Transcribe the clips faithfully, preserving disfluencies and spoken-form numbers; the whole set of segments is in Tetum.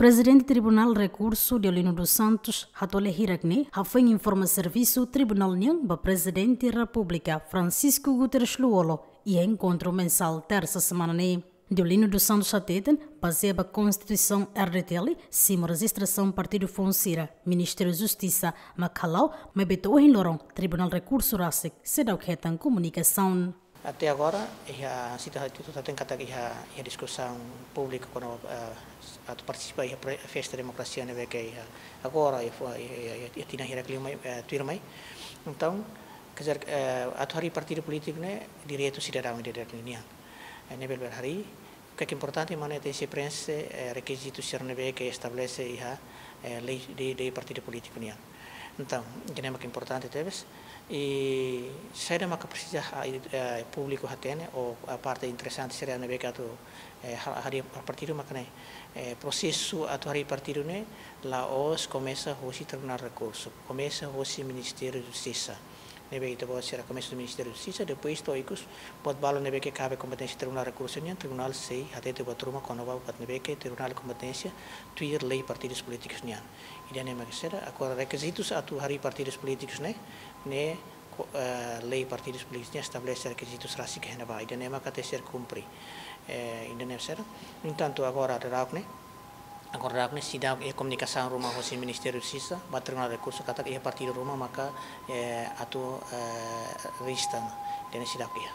Prezidente Tribunál Rekursu, Deolino dos Santos, hato'o lia hirak ne'e hafoin informa servisu tribunál nian ba Prezidente Repúblika, Francisco Guterres Lú-Olo, iha enkontru mensál tersa semana ne'e. Deolino dos Santos hateten, bazeia ba Konstituisaun R D T L, simu rejistrasaun partidu foun sira, Ministériu Justisa mak hala'o, maibé to'o ohin loron Tribunál Rekursu rasik seidauk hetan komunikasaun. Até agora, iha situasaun atu hateten katak iha, iha diskusaun públiku kona-ba, eh, atu partisipa iha pre-, festa demokrasia ne'ebé ke iha agora, iha fo-, iha, iha, iha, iha tinan hirak liu mai, eh, tuirmai. Entaun, quer dizer, eh, atu harii partidu polítiku ne'e direitu sidadaun ida-idak nian. Eh, ne'ebé bele harii, o que é importante, mak ne'e tenke preenxe, eh, rekizitu sira ne'ebé ke estabelese iha, eh, lei, lei, lei partidu polítiku nian. Entaun, ida-ne'e mak importante tebes. I saida maka presiza, ah, i, eh, públiku hatene, ou, ah, parte interesante sira ne'ebé ke atu, eh, ha-, harii partidu mak ne'e, eh, prosesu atu harii partidu ne'e la'ós komesa hosi Tribunál Rekursu, komesa hosi Ministériu Justisa. Ne'ebé ita-boot sira komesa hosi Ministériu Justisa, depois to'o ikus buat balu ne'ebé ke kabe kompeténsia Tribunál Rekursu nian, tribunál sei hatete buat ruma kona-ba buat ne'ebé ke tribunál kompeténsia tuir lei partidus polítikus nian. Ida-ne'e mak saida, agora rekizitus atu harii partidus polítikus ne'e, ne'e ko-, eh, lei partidus polítikus nian estabelese rekizitus rasik iha ne'ebá. Ida-ne'e maka tenke ser kumpre. Eh, ida-ne'e saida. No entantu, agora daudaun ne'e, agora daudaun ne'e seidauk iha komunikasaun ruma hosi Ministériu Justisa ba Tribunál Rekursu katak iha partidu ruma maka, eh, atu, eh, rejista. Ida-ne'e seidauk iha.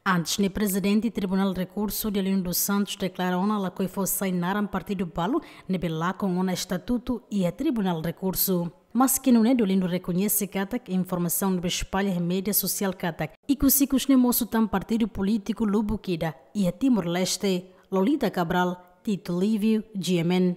Antes ne'e, Prezidente Tribunál Rekursu, Deolino dos Santos, deklara ona lakohi fó sai naran partidu balu ne'ebé lakon ona estatutu iha Tribunál Rekursu. Maski nune'e, Deolino rekoñese katak informasaun ne'ebé espalla iha média sosiál katak ikus-ikus ne'e mosu tan partidu polítiku lubuk ida iha Timor-Leste. Lolita Cabral, Tito Livio, G M N.